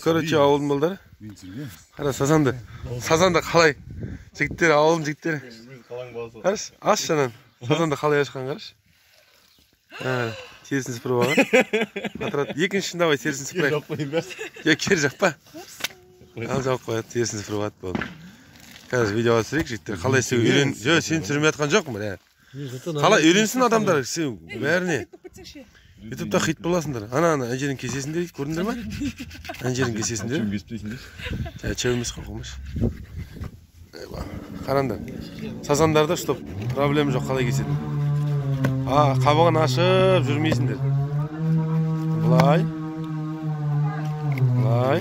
Короче, ауылдун балдары. Кара сазанды. Сазанды калай? Жигиттер, ауылдун жигиттери. Караш, аш жанан. Сазанды калай ашкан караш. Терісін сыпырып алған. Атырат, екінші давай терісін сыпырайық. Кер жауып қойын ба? Жоқ, кер жақпа. Ал жауып қояды, терісін сыпырып алады болды. Қазір видеоға түсірейік, жігіттер. Қалай сен үйрен... Жоқ, сен түсірмей жатқан жоқпын, қалай үйренсін адамдар, сен бәріне. Ютубта хит боласыңдар. Ана әнжердің кесесінде көрдіңдер ма? Әнжердің кесесінде. Чөм кеспейсіңдер? Чөміміз қоқымыз. Қараңдар. Сазандарда стоп, проблема жоқ, қалай кеседі. Қабығын ашып жүрмейсіңдер. Бұлай. Бұлай.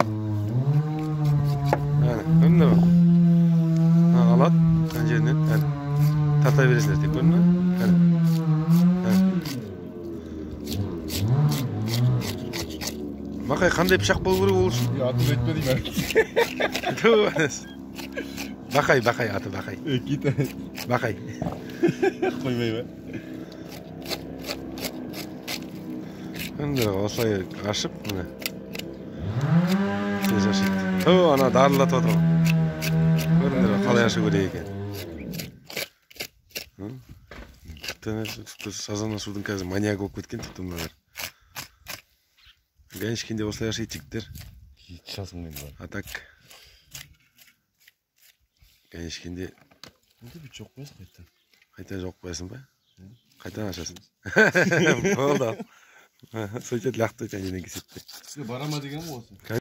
Көрдіңдер ма? Алады, әнжерінен. Тарта бересіңдер, тек көрдің ма? Бақай, қандай пышақ болу керек ол үшін? Атын айтпа дейм Бақай, аты Бақай. Кит. Бақай. Қоймай ба? Енді осылай ашып, міне. Тез ашайды. Ана дарылатып отыр. Көрдіңдер қалай ашу керек екен. Сазан ашудың қазір маньяк болып кеткен тіпті мыналар. Ганешкенде осылай ашайды жігіттер. Шасың мен бар. А так. Ганешкенде... Онда бүт жоқ қоясың қайттан. Қайттан жоқ қоясың ба? Қайттан ашасың. Болды. Сөйтеді лақты өтен жеден кесетті. Барама деген ғой осы.